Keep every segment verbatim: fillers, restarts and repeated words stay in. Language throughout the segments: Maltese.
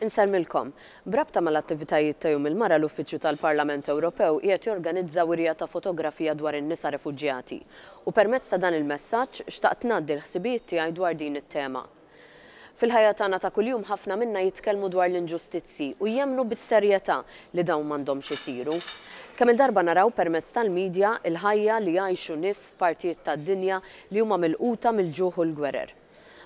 Insellmilkom. B'rabta mal-attivitajiet ta' Jum il-Mara, l-Uffiċċju tal-Parlament Ewropew qiegħed jorganizza wirja ta' fotografija dwar in-nisa refuġjati. U permezz ta' dan il-messaġġ xtaqt ngħaddi l-ħsibijiet tiegħi dwar din it-tema. Fil-ħajja tagħna ta' kuljum ħafna minna jitkellmu dwar l-inġustizzji u jemmnu bis-serjetà li dawn m'għandhomx isiru. Kemm il-darba naraw permezz tal-medja il-ħajja li jgħixu nies f'partijiet tad-dinja li huma milquta mill-ġuħ u l-gwerer.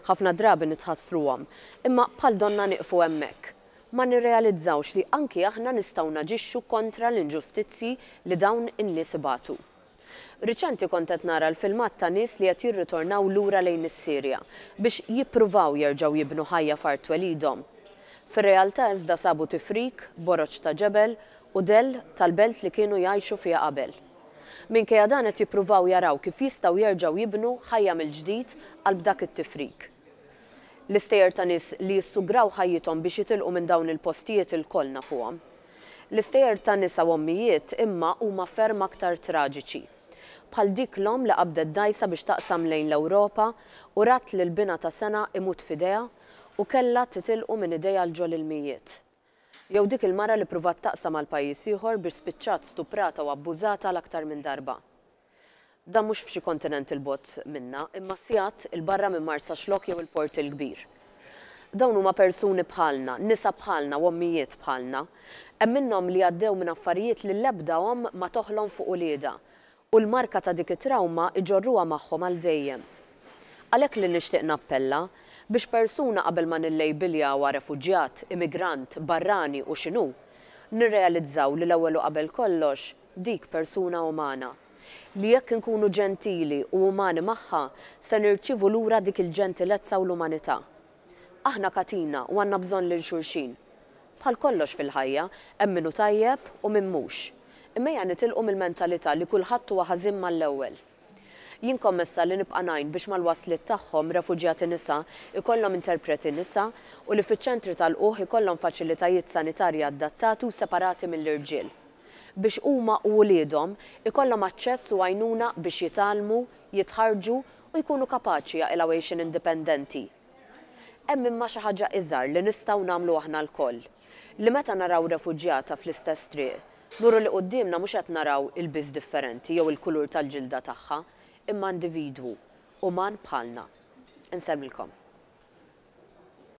Ħafna drabi nitħassruhom, imma bħal donna nieqfu hemmhekk. Ma nirrealizzawx li anki aħna nistgħu naġixxu kontra l-inġustizzji li dawn in-nies ibatu. Riċenti kont qed nara l-filmat ta' nies li qed jirritornaw lura lejn is-Sirja biex jippruvaw jerġgħu jibnu ħajja f'art twelidhom. Fir-realtà iżda sabu tifrik, boroġ ta' ġebel u dell tal-belt li kienu jgħixu fiha qabel. Minkejja dan qed jippruvaw jaraw kif jistgħu jerġgħu jibnu ħajja mill-ġdid qalb dak it-tifrik. L-istejjer ta' nies li jissugraw ħajjithom biex jitilqu minn dawn il-postijiet ilkoll nafuhom. L-istejjer ta' nisa u ommijiet imma huma ferm aktar traġiċi. Bħal dik l-omm li qabdet dgħajsa biex taqsam lejn l-Ewropa u rat lil binha ta' sena imut f'idejha u kellha titilqu minn idejha 'l ġol-ilmijiet. Jew dik il-mara li pruvat taqsam għal pajjiż ieħor biex spiċċat stuprata u abbużata għal aktar minn darba. Dan mhux f'xi kontinent 'il bogħod minna, imma sigħat 'il barra minn Marsaxlokk jew il-Port il-Kbir. Dawn huma persuni bħalna, nisa bħalna u ommijiet bħalna. Hemm minnhom li għaddew minn affarijiet li l-ebda omm ma toħlom fuq uliedha u l-marka ta' dik it-trawma iġorruha magħhom għal dejjem. Għalhekk li nixtieq nappella biex persuna qabel ma nillejbiljawha refuġjat, immigrant, barrani u x'inhu, nirrealizzaw li l-ewwel u qabel kollox dik persuna umana. Li jekk inkunu ġentili u umani magħha se nirċievu lura dik il-ġentilezza u l-umanità. Aħna katina u għandna bżonn lil xulxin. Bħal kollox fil-ħajja, hemm min hu tajjeb u min mhux. Imma ejja nitilqu mill-mentalità li kulħadd huwa ħażin mal-ewwel. Jien kommessa li nibqa' ngħin biex mal-wasliet tagħhom refuġjati nisa ikollhom interpreti nisa u li fiċ-ċentri tal-lqugħ ikollhom faċilitajiet sanitarji adattati u separati mill-irġiel. Biex huma u wliedhom ikollhom aċċess u għajnuna biex jitgħallmu, jitħarrġu u jkunu kapaċi jaqilgħu għixien indipendenti. Hemm imma xi ħaġa iżgħar li nistgħu nagħmlu aħna lkoll. Li meta naraw refuġjata fl-istess triq, nuru li quddiemna mhux qed naraw ilbies differenti jew il-kulur tal-ġilda tagħha, imma individwu, uman bħalna. Insellmilkom.